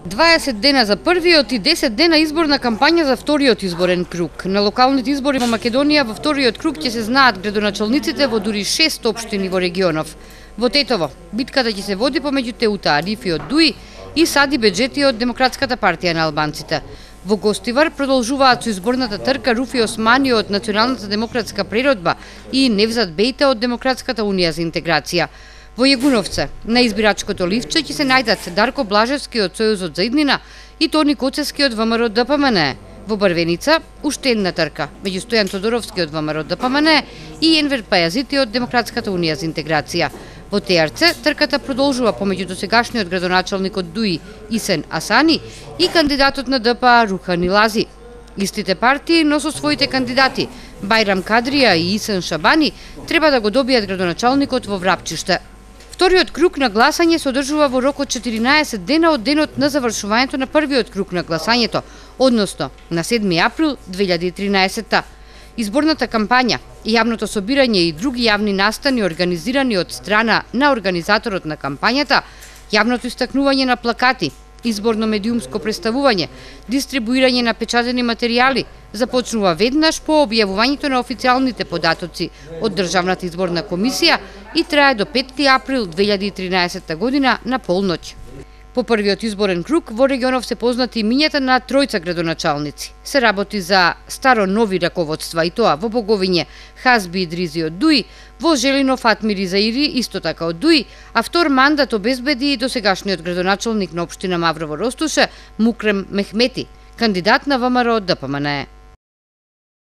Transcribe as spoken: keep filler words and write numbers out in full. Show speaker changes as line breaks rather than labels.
дваесет дена за првиот и десет дена изборна кампања за вториот изборен круг. На локалните избори во Македонија во вториот круг ќе се знаат градоначалниците во дури шест општини во регионов. Во Тетово битката ќе се води помеѓу Теута Арифи од Дуи и Сади Беџети од Демократската партија на албанците. Во Гостивар продолжуваат со изборната трка Руфи Османи од Националната демократска преродба и Невзат Бејте од Демократската унија за интеграција. Во Јегуновце на избирачкото ливче ќе се најдат Дарко Блажевски од Сојузот за иднина и Тони Коцевски од ВМРО ДПМН. Во Барвеница уште една трка меѓу Стојан Тодоровски од ВМРО ДПМН и Енвер Пајазити од Демократската унија за интеграција. Во Теарце трката продолжува помеѓу досегашниот градоначалник од Дуи Исен Асани и кандидатот на ДПА Рухан Илази. Истите партии, но со своите кандидати Бајрам Кадрија и Исен Шабани треба да го добијат градоначалникот во Врапчиште. Вториот круг на гласање се одржува во рок од четиринаесет дена од денот на завршувањето на првиот круг на гласањето, односно на седми април две илјади и тринаесетта. Изборната кампања, јавното собирање и други јавни настани организирани од страна на организаторот на кампањата, јавното истакнување на плакати, изборно медиумско представување, дистрибуирање на печатени материјали започнува веднаш по објавувањето на официјалните податоци од Државната изборна комисија и трае до петти април две илјади и тринаесетта година на полноќ. По првиот изборен круг во регионов се познати имињата на тројца градоначалници. Се работи за старо нови раководства и тоа во Боговиње Хазби Идризи од Дуи, во Желино Фатмири Заири исто така од Дуи, а втор мандат обезбеди досегашниот градоначалник на општина Маврово Ростуше Мукрем Мехмети, кандидат на ВМРО ДПМН.